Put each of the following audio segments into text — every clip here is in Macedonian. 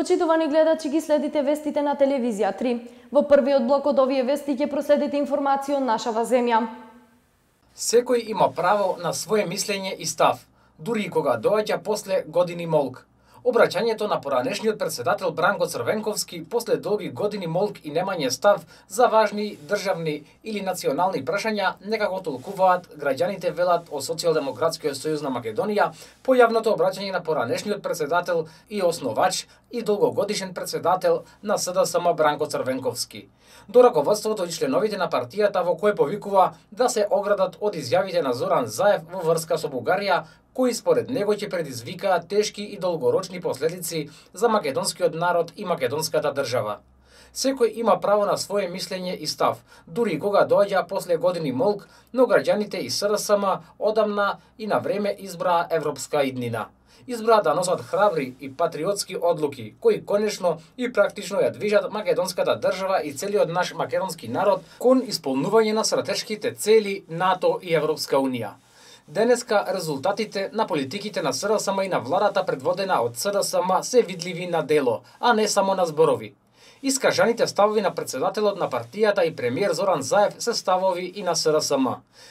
Почитувани гледачи, ги следите вестите на телевизија 3. Во првиот блок од овие вести ќе проследите информации од нашава земја. Секој има право на свое мислење и став, дури и кога доаѓа после години молк. Обраќањето на поранешниот председател Бранко Црвенковски после долги години молк и немање став за важни државни или национални прашања некако толкуваат граѓаните, велат од Социјалдемократскиот сојуз на Македонија, по јавното обраќање на поранешниот председател и основач и долгогодишен председател на СДСМ Бранко Црвенковски. До раководството и членовите на партијата, во кое повикува да се оградат од изјавите на Зоран Заев во врска со Бугарија, кои според него ќе предизвикаат тешки и долгорочни последици за македонскиот народ и македонската држава. Секој има право на свое мислење и став, дури и кога доаѓа после години молк, но граѓаните и СДСМ одамна и на време избраа европска иднина. Избраа да носат храбри и патриотски одлуки, кои конечно и практично ја движат македонската држава и целиот наш македонски народ кон исполнување на стратешките цели НАТО и Европска унија. Денеска резултатите на политиките на СДСМ и на владата предводена од СДСМ се видливи на дело, а не само на зборови. Искажаните ставови на председателот на партијата и премиер Зоран Заев се ставови и на СДСМ.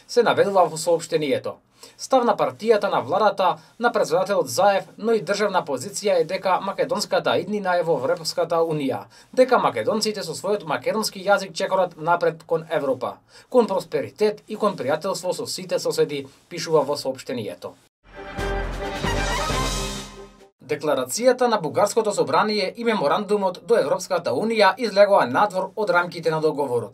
Се наведува во соопштението. Став на партијата на владата на председателот Заев, но и државна позиција е дека македонската иднина е во Европската унија, дека македонците со својот македонски јазик чекорат напред кон Европа, кон просперитет и кон пријателство со сите соседи, пишува во соопштението. Декларацијата на Бугарското собрание и меморандумот до Европската унија излегоа надвор од рамките на договорот.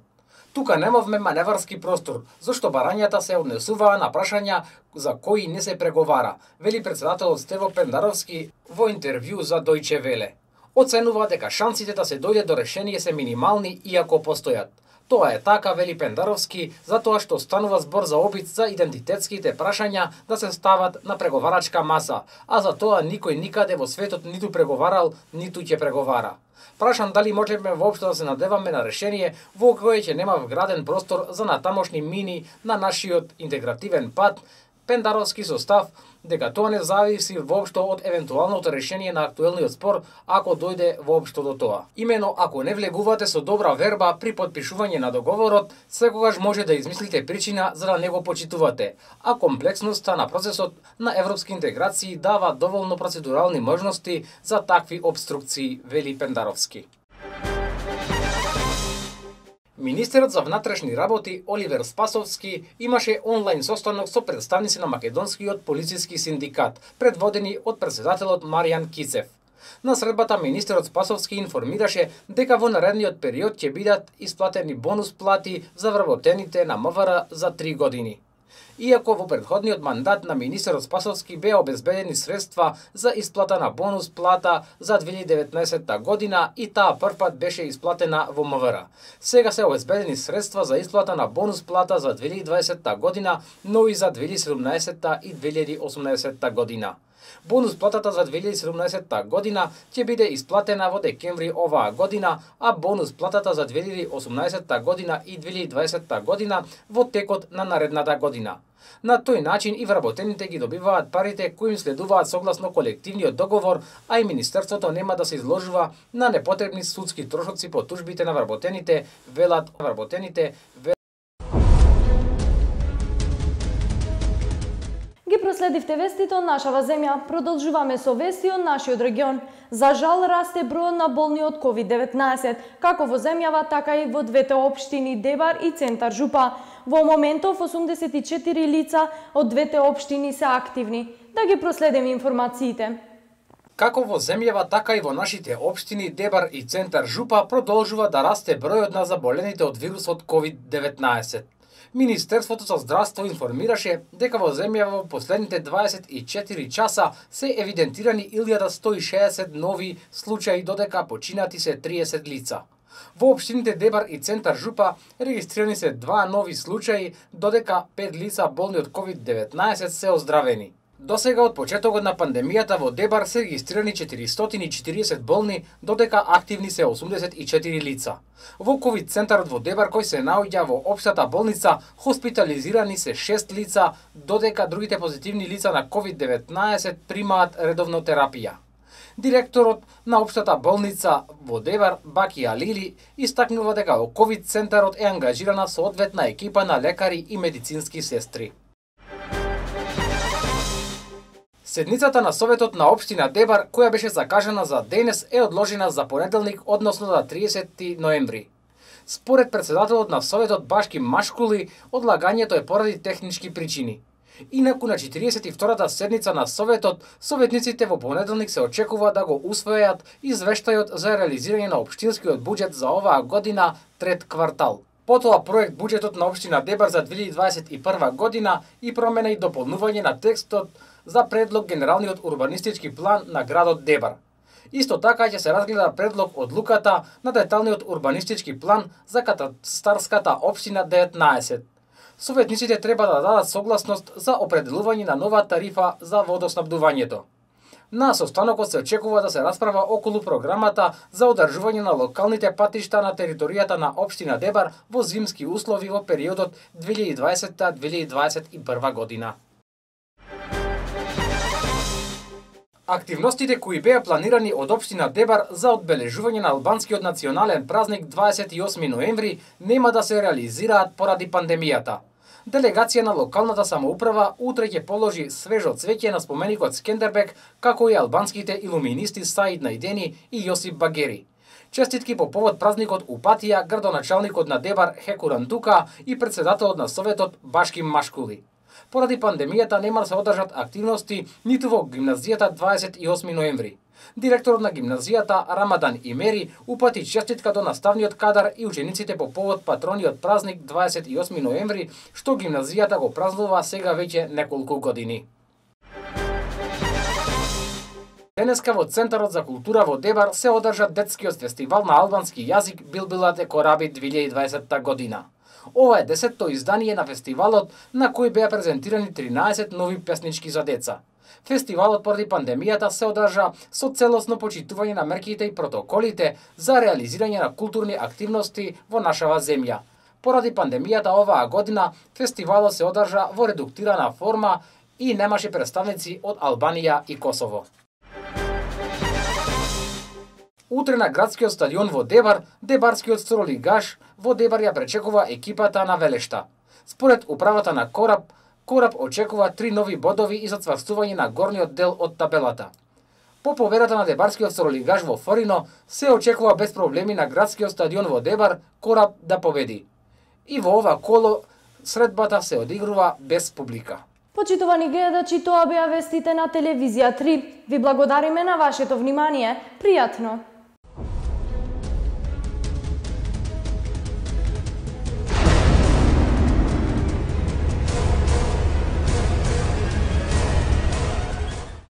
Тука немавме маневарски простор, зашто барањата се однесуваа на прашања за кои не се преговара, вели председателот Стево Пендаровски во интервју за Дојче Веле. Оценува дека шансите да се дојде до решение се минимални иако постојат. Тоа е така, вели Пендаровски, затоа што станува збор за обид за идентитетските прашања да се стават на преговарачка маса, а за тоа никој никаде во светот ниту преговарал, ниту ќе преговара. Прашан дали можеме воопшто да се надеваме на решение во кое ќе нема вграден простор за натамошни мини на нашиот интегративен пат, Пендаровски со став дека тоа не зависи воопшто од евентуалното решение на актуелниот спор, ако дојде воопшто до тоа. Имено ако не влегувате со добра верба при потпишување на договорот, секогаш може да измислите причина за да не го почитувате, а комплексноста на процесот на европски интеграции дава доволно процедурални можности за такви обструкции, вели Пендаровски. Министерот за внатрешни работи Оливер Спасовски имаше онлайн состанок со представници на македонскиот полициски синдикат, предводени од председателот Маријан Кицев. На средбата министерот Спасовски информираше дека во наредниот период ќе бидат исплатени бонус плати за вработените на МВР за 3 години. Иако во претходниот мандат на министерот Спасовски беа обезбедени средства за исплата на бонус плата за 2019 година и таа првпат беше исплатена во МВР. Сега се обезбедени средства за исплата на бонус плата за 2020 година, но и за 2017 и 2018 година. Бонус платата за 2017 година ќе биде исплатена во декември оваа година, а бонус платата за 2018 година и 2020 година во текот на наредната година. На тој начин и вработените ги добиваат парите кои им следуваат согласно колективниот договор, а и министерството нема да се изложува на непотребни судски трошоци по тужбите на вработените, велат вработените. Ги проследивте вестите од нашава земја. Продолжуваме со вести од нашиот регион. За жал расте бројот на болни од COVID-19, како во земјава, така и во двете општини Дебар и Центар Жупа. Во моментов 84 лица од двете општини се активни. Да ги проследиме информациите. Како во земјава, така и во нашите општини Дебар и Центар Жупа продолжува да расте бројот на заболените од вирусот COVID-19. Министерството за здравство информираше дека во земјава во последните 24 часа се евидентирани 1160 нови случаи, додека починати се 30 лица. Во општините Дебар и Центар Жупа регистрирани се 2 нови случаи, додека 5 лица болни од COVID-19 се оздравени. Досега од почетокот на пандемијата во Дебар се регистрирани 440 болни, додека активни се 84 лица. Во ковид центарот во Дебар, кој се наоѓа во општата болница, хоспитализирани се 6 лица, додека другите позитивни лица на COVID-19 примаат редовно терапија. Директорот на општата болница во Дебар, Баки Алили, истакнува дека во ковид центарот е ангажирана соодветна екипа на лекари и медицински сестри. Седницата на Советот на општина Дебар, која беше закажана за денес, е одложена за понеделник, односно за 30 ноември. Според председателот на Советот Башки Машкули, одлагањето е поради технички причини. Инаку на 42-та седница на Советот, советниците во понеделник се очекува да го усвојат извештајот за реализирање на општинскиот буџет за оваа година трет квартал. Потоа проект буџетот на општина Дебар за 2021 година и промена и дополнување на текстот за предлог генералниот урбанистички план на градот Дебар. Исто така ќе се разгледа предлог одлуката на деталниот урбанистички план за катастарската општина 19. Советниците треба да дадат согласност за определување на нова тарифа за водоснабдувањето. На состанокот се очекува да се расправа околу програмата за одржување на локалните патишта на територијата на општина Дебар во зимски услови во периодот 2020-2021 година. Активностите кои беа планирани од општина Дебар за одбележување на албанскиот национален празник 28 ноември нема да се реализираат поради пандемијата. Делегација на локалната самоуправа утре ќе положи свежо цвеќе на споменикот Скендербек, како и албанските илуминисти Саид Најдени и Јосип Багери. Честитки по повод празникот упатија градоначалникот на Дебар Хекуран Тука и председателот на Советот Башки Машкули. Поради пандемијата нема да се одржат активности ниту во гимназијата 28 ноември. Директорот на гимназијата Рамадан Имери упати честитка до наставниот кадар и учениците по повод патрониот празник 28 ноември, што гимназијата го празнува сега веќе неколку години. Денеска во Центарот за култура во Дебар се одржа детскиот фестивал на албански јазик Билбилате Кораби 2020 година. Ова е 10-то издание на фестивалот, на кој беа презентирани 13 нови песнички за деца. Фестивалот поради пандемијата се одржа со целосно почитување на мерките и протоколите за реализирање на културни активности во нашава земја. Поради пандемијата оваа година фестивалот се одржа во редуктирана форма и немаше представници од Албанија и Косово. Утре на градскиот стадион во Дебар, дебарскиот стролигаш во Дебар ја пречекува екипата на Велешта. Според управата на Кораб очекува 3 нови бодови и зацврстување на горниот дел од табелата. По победата на дебарскиот стролигаш во Форино, се очекува без проблеми на градскиот стадион во Дебар Кораб да победи. И во ова коло средбата се одигрува без публика. Почитувани гледачи, тоа беа вестите на телевизија 3. Ви благодариме на вашето внимание. Пријатно!